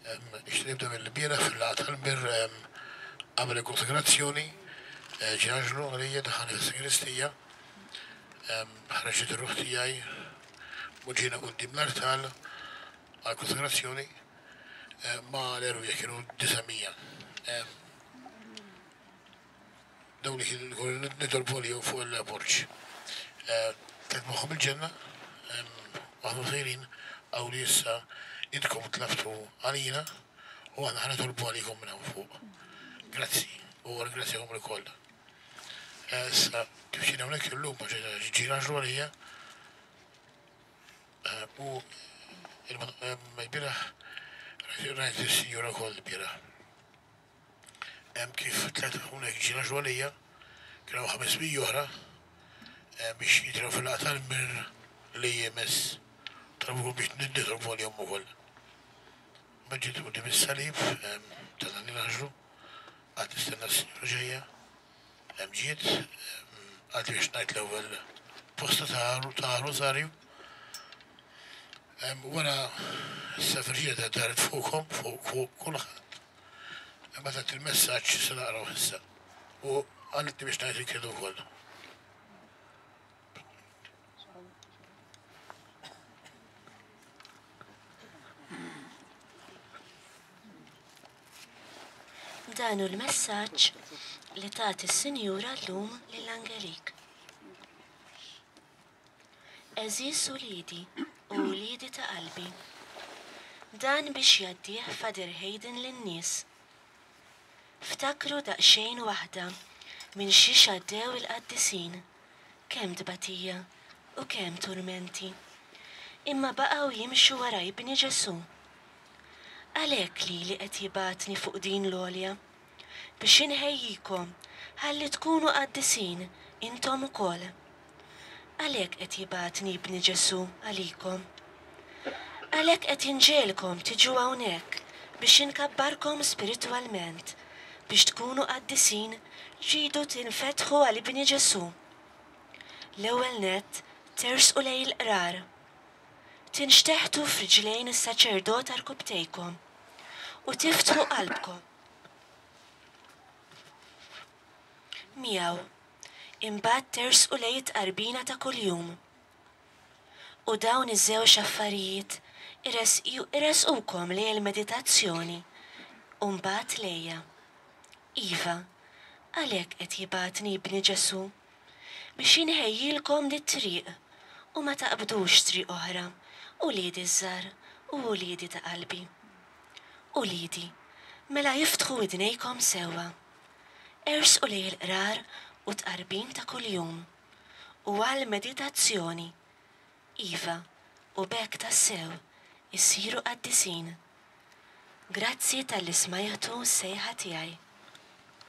Nixtieq nibda mill-bieraħ fil-laqgħa tal-Mir qabel il-konsagrazzjoni ġie anġlu għalija daħalni fis-sagristija, ħreġet ir-ruħ tiegħi u ġejna quddiem l-artal għall-konsagrazzjoni ma' l-erwieħ kienu 900. Dawn li kienu konna nitolbu għalihom fuq il-porch. Tlajt magħhom il-ġenna, u aħna sejrin hawn li issa intkom tlabtu għalina u aħna ħa nitolbu għalikom minn hawn fuq. Grazzi u ringrazzjakom ilkoll. Issa kif ġejna hawnhekk illum għax ġie l-anġlu għalija u l-bieraħ rajt is-Sinjura wkoll il-bieraħ. Hemm kif tlajt hawnhekk ġie l-anġlu għalija, kien hawn 500 oħra biex jitilgħu fil-laqgħa tal-Mir li jmiss. Talbukom biex nitolbu għalihom ukoll. Mbagħad ġiet quddiem is-salib ta' dan l-anġlu, qgħadt nistenna s-Sinjura ġejja. Hemm ġiet, qaltli biex ngħid l-ewwel posta ta' Rożarju. Wara s-Sa Virġinja daret fuqhom, fuq kulħadd. Imbagħad tat il-messaġġ se naqrawh issa. U qaltli biex ngħid il-kredu wkoll. Dan hu l-messaġġ li tat is-Sinjura llum lil Angelique. Għeżież uliedi u uliedi ta' qalbi. Dan biex jgħaddih Father Hayden lin-nies. Ftakru daqsxejn waħda minn xiex għaddew il-qaddisin, kemm tbatija u kemm turmenti. Imma baqgħu jimxu wara Ibni Ġesù. Għalhekk lili qed jibgħatni fuq din l-għolja, biex inħejjikom ħalli tkunu qaddisin intom ukoll. Għalhekk qed jibgħatni Ibni Ġesù għalikom. Għalhekk qed inġegħelkom tiġu hawnhekk biex inkabbarkom spiritwalment, biex tkunu qaddisin tridu tinfetħu għal Ibni Ġesù. L-ewwel nett tersqu lejn il-qrar. Tinxteħtu f'riġlejn is-saċerdot għarkupptejkom u tiftħu qalbkom miegħu. Imbagħad tersqu lejn it-tqarbina ta' kuljum. U dawn iż-żewġ affarijiet iressqukom lejn il-meditazzjoni u mbagħad lejja. Iva, għalhekk qed jibgħatni Ibni Ġesù, biex inħejjilkom dit-triq u ma taqbdux triq oħra, uliedi ż-żgħar u uliedi ta' qalbi. Uliedi, mela iftħu widnejkom sewwa. Ersqu lejn il-qrar u t-tqarbin ta' kuljum, u għall-meditazzjoni, iva, u b'hekk tassew issiru qaddisin. Grazzi talli smajtu s-sejħa tiegħi.